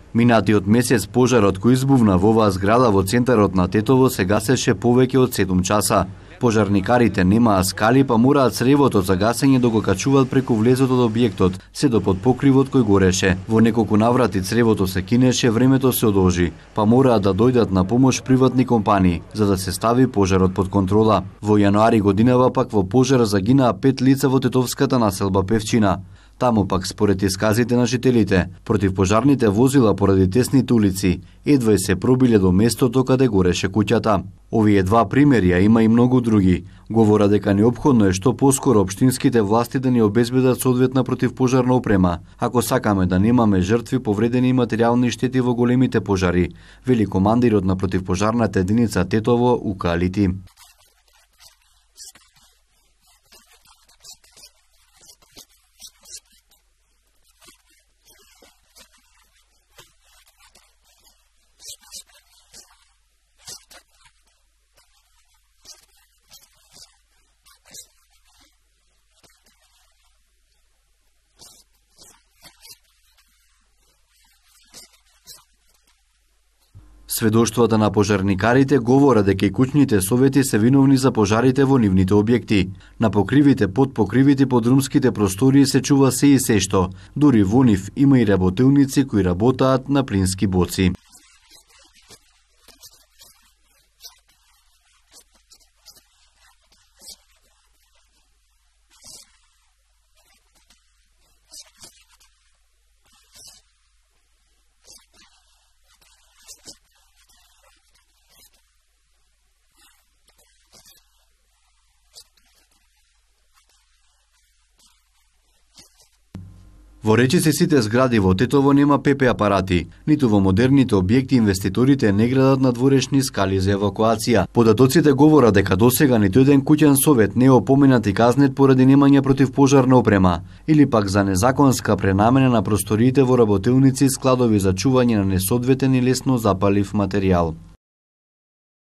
Минатиот месец пожарот кој избувна во оваа зграда во центарот на Тетово се гасеше повеќе од 7 часа. Пожарникарите немаа скали, па мораат цревото за гасење да го качуваат преку влезот од објектот, се до под покривот кој гореше. Во неколку наврати цревото се кинеше, времето се одолжи, па мораат да дојдат на помош приватни компании, за да се стави пожарот под контрола. Во јануари годинава пак во пожар загинаа 5 лица во тетовската населба Певчина. Таму пак според исказите на жителите, противпожарните возила поради тесните улици едва се пробиле до местото каде гореше куќата. Овие два примери, а има и многу други, говора дека неопходно е што поскоро општинските власти да ни обезбедат соодветна противпожарна опрема, ако сакаме да немаме жртви, повредени и материјални штети во големите пожари, вели командирот на противпожарната единица Тетово Ука Алити. Сведоштвата на пожарникарите говорат дека и куќните совети се виновни за пожарите во нивните објекти. На покривите, под покривите, под румските простории се чува се и се што. Дури во нив има и работилници кои работаат на плински боци. Во речиси сите згради во Тетово нема ПП апарати, ниту во модерните објекти инвеститорите не градат надворешни скали за евакуација. Податоците говорат дека досега ниту еден куќен совет не е опоменат и казнет поради немање противпожарна опрема, или пак за незаконска пренамена на просториите во работилници и складови за чување на несоодветен и лесно запалив материјал.